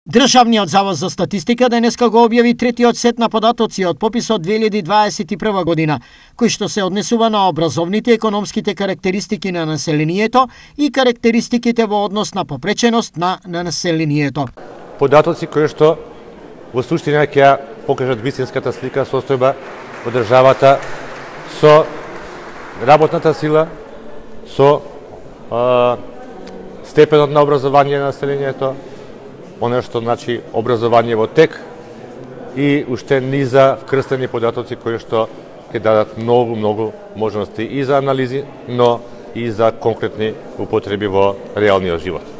Државниот завод за статистика денеска го објави третиот сет на податоци од пописот 2021 година, кој што се однесува на образовните и економските карактеристики на населението и карактеристиките во однос на попреченост на населението. Податоци кои што во суштина ќе покажат вистинската слика состојба во државата со работната сила, со степенот на образование на населението, оно што значи образование во тек и уште низа вкрстени податоци кои што ќе дадат многу можности и за анализи, но и за конкретни употреби во реалниот живот.